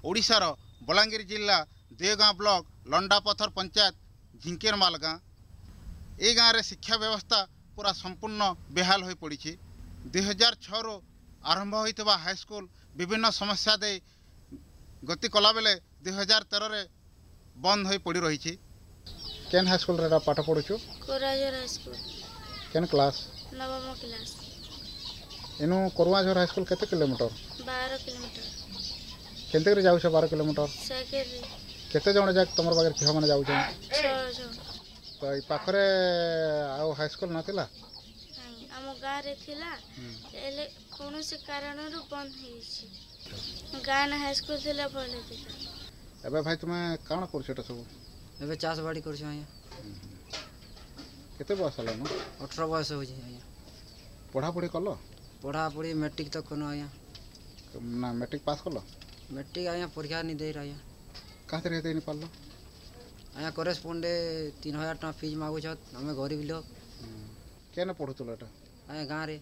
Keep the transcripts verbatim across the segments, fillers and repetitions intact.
ଓଡ଼ିଶାର ବଲାଙ୍ଗୀର ଜିଲ୍ଲା ଦେଓଗାଁ ବ୍ଲକ ଲଣ୍ଡାପଥର ପଞ୍ଚାୟତ ଝିଙ୍କେରମାଲ ଗାଁ। ଏଇ ଗାଁରେ ଶିକ୍ଷା ବ୍ୟବସ୍ଥା ପୁରା ସମ୍ପୂର୍ଣ୍ଣ ବେହାଲ ହୋଇପଡ଼ିଛି। ଦୁଇହଜାର ଛଅରୁ ଆରମ୍ଭ ହୋଇଥିବା ହାଇସ୍କୁଲ ବିଭିନ୍ନ ସମସ୍ୟା ଦେଇ ଗତି କଲାବେଳେ ଦୁଇହଜାର ତେରରେ ବନ୍ଦ ହୋଇ ପଡ଼ି ରହିଛି। କେନ୍ ହାଇସ୍କୁଲରେ ଏଟା ପାଠ ପଢ଼ୁଛୁ? କୋରାଝର ହାଇସ୍କୁଲ। କେନ୍ କ୍ଲାସ୍? ନବମ କ୍ଲାସ୍। ଏନୁ କରୁଆଝର ହାଇସ୍କୁଲ କେତେ କିଲୋମିଟର? ବାର କିଲୋମିଟର। କେନ୍ତି କରି ଯାଉଛ ବାର କିଲୋମିଟର? ସାଇକେଲରେ। କେତେ ଜଣ ଯାକ ତମର ପାଖରେ ଝିଅମାନେ ଯାଉଛନ୍? ଛଅ ଜଣ। ତ ଏଇ ପାଖରେ ଆଉ ହାଇସ୍କୁଲ ନଥିଲା? ନାଇଁ, ଆମ ଗାଁରେ ଥିଲା, ହେଲେ କୌଣସି କାରଣରୁ ବନ୍ଦ ହେଇଯାଇଛି। ଗାଁ ହାଇସ୍କୁଲ ଥିଲା, ଭଲ ଥିଲା। ଏବେ ଭାଇ ତୁମେ କାଣା କରୁଛ ଏଟା ସବୁ? ଏବେ ଚାଷ ବାଡ଼ି କରୁଛୁ ଆଜ୍ଞା। କେତେ ବୟସ ହେଲାନ? ଅଠର ବୟସ ହେଉଛି ଆଜ୍ଞା। ପଢ଼ାପଢ଼ି କଲ? ପଢ଼ାପଢ଼ି ମେଟ୍ରିକ୍ ତ କନୁ ଆଜ୍ଞା। ନା, ମେଟ୍ରିକ୍ ପାସ୍ କଲ? ମେଟ୍ରିକ୍ ଆଜ୍ଞା ପରୀକ୍ଷା ନି ଦେଇର ଆଜ୍ଞା। କାହାଥିରେ ଦେଇ ନି ପାରିଲ? ଆଜ୍ଞା, କରେସ୍ପଣ୍ଡେ ତିନି ହଜାର ଟଙ୍କା ଫିଜ୍ ମାଗୁଛତ୍, ଆମେ ଗରିବ ଲୋକ। କେନେ ପଢ଼ୁଥିଲ ଏଟା? ଆଜ୍ଞା, ଗାଁରେ।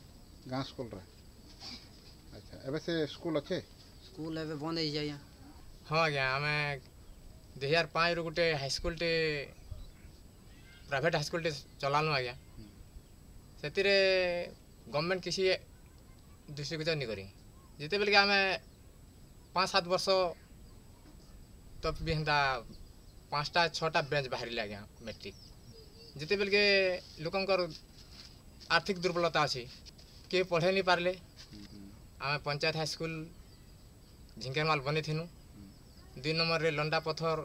ଗାଁ ସ୍କୁଲରେ। ଆଚ୍ଛା, ଏବେ ସେ ସ୍କୁଲ ଅଛେ? ସ୍କୁଲ ଏବେ ବନ୍ଦ ହେଇଛି ଆଜ୍ଞା। ହଁ ଆଜ୍ଞା, ଆମେ ଦୁଇ ହଜାର ପାଞ୍ଚରୁ ଗୋଟେ ହାଇସ୍କୁଲଟେ, ପ୍ରାଇଭେଟ୍ ହାଇସ୍କୁଲଟେ ଚଲାଲୁ ଆଜ୍ଞା। ସେଥିରେ ଗଭର୍ଣ୍ଣମେଣ୍ଟ କିଛି ଦୃଷ୍ଟିଗୋଚର ନି କରି। ଯେତେବେଲେ କି ଆମେ ପାଞ୍ଚ ସାତ ବର୍ଷ ତ ବି ହେନ୍ତା ପାଞ୍ଚଟା ଛଅଟା ବେଞ୍ଚ ବାହାରିଲେ ଆଜ୍ଞା ମେଟ୍ରିକ୍। ଯେତେବେଲେ କି ଲୋକଙ୍କର ଆର୍ଥିକ ଦୁର୍ବଳତା ଅଛି, କିଏ ପଢ଼େଇ ନି ପାରିଲେ, ଆମେ ପଞ୍ଚାୟତ ହାଇସ୍କୁଲ ଝିଙ୍କେରମାଲ ବନେଇଥିନୁ। ଦୁଇ ନମ୍ବରରେ ଲଣ୍ଡା ପଥର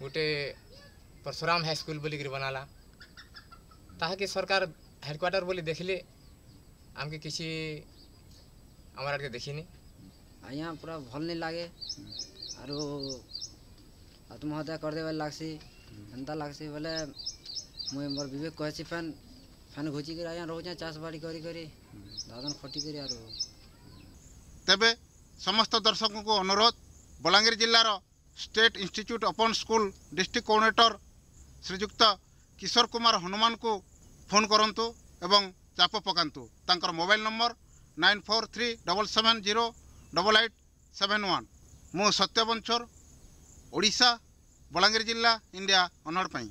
ଗୋଟେ ପରଶୁରାମ ହାଇସ୍କୁଲ ବୋଲିକିରି ବନାଲା। ତାହାକେ ସରକାର ହେଡ଼କ୍ୱାର୍ଟର ବୋଲି ଦେଖିଲେ ଆମକେ କିଛି ଆମର ଆଡ଼କେ ଦେଖିନି। ଆଜ୍ଞା, ପୁରା ଭଲ୍ ନି ଲାଗେ ଆରୁ ଆତ୍ମହତ୍ୟା କରିଦେବାର୍ ଲାଗ୍ସି, ଏନ୍ତା ଲାଗ୍ସି ବୋଲେ ମୁଇଁ ମୋର୍ ବିବେକ କହେସି। ଫେନ୍ ଫେନ୍ ଘୁଚିକରି ଆଜ୍ଞା ରହୁଛେଁ, ଚାଷ ବାଡ଼ି କରି କରି, ଦାଦନ ଖଟିକରି ଆରୁ। ତେବେ ସମସ୍ତ ଦର୍ଶକଙ୍କୁ ଅନୁରୋଧ, ବଲାଙ୍ଗୀର ଜିଲ୍ଲାର state institute open school district coordinator ଶ୍ରୀଯୁକ୍ତ କିଶୋର କୁମାର ହନୁମାନଙ୍କୁ ଫୋନ୍ କରନ୍ତୁ ଏବଂ ଚାପ ପକାନ୍ତୁ। ତାଙ୍କର mobile number nine four three double seven zero double eight seven one. ମୁଁ ସତ୍ୟ ବଞ୍ଚର, ଓଡ଼ିଶା, ବଲାଙ୍ଗୀର ଜିଲ୍ଲା, ଇଣ୍ଡିଆ ଅନର୍ଡ଼ ପାଇଁ।